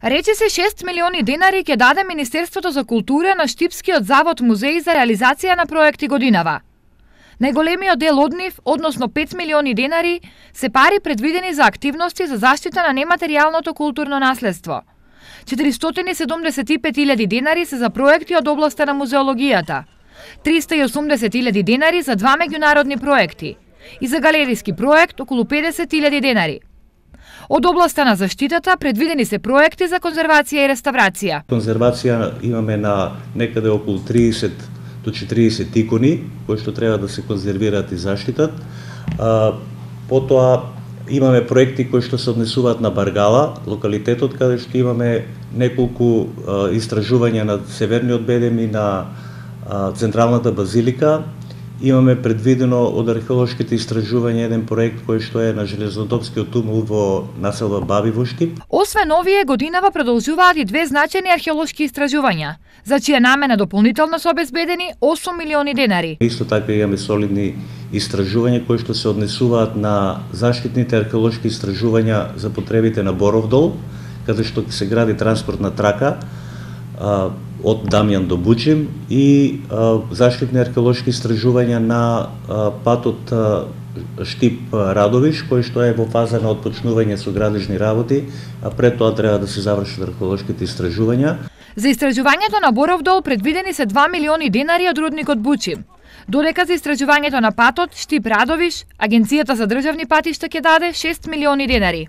Рече се 6 милиони денари ќе даде Министерството за култура на Штипскиот завод музеј за реализација на проекти годинава. Најголемиот дел од нив, односно 5 милиони денари, се пари предвидени за активности за заштита на нематеријалното културно наследство. 475.000 денари се за проекти од областа на музеологијата, 380.000 денари за 2 меѓународни проекти и за галериски проект околу 50.000 денари. Од областа на заштитата предвидени се проекти за конзервација и реставрација. Конзервација имаме на некаде околу 30 до 40 икони кои што треба да се конзервираат и заштитат. Потоа имаме проекти кои што се однесуваат на Баргала, локалитетот каде што имаме неколку истражувања на Северниот Бедем и на Централната базилика. Имаме предвидено од археолошките истражувања еден проект кој што е на железнодопскиот тунел во населба Баби во Штип. Освен овие, годинава продолжуваат и две значајни археолошки истражувања, за чија намена дополнително се обезбедени 8 милиони денари. Исто така имаме солидни истражувања кои што се однесуваат на заштитните археолошки истражувања за потребите на Боров дол, каде што се гради транспортна трака од Дамјан до Бучим и заштитни археолошки истражувања на патот Штип-Радовиш, кој што е во фаза на отпочнување со градежни работи, а пред тоа треба да се завршат археолошките истражувања. За истражувањето на Боров дол предвидени се 2 милиони денари од рудникот Бучим, додека за истражувањето на патот Штип-Радовиш, Агенцијата за државни патишта ќе даде 6 милиони денари.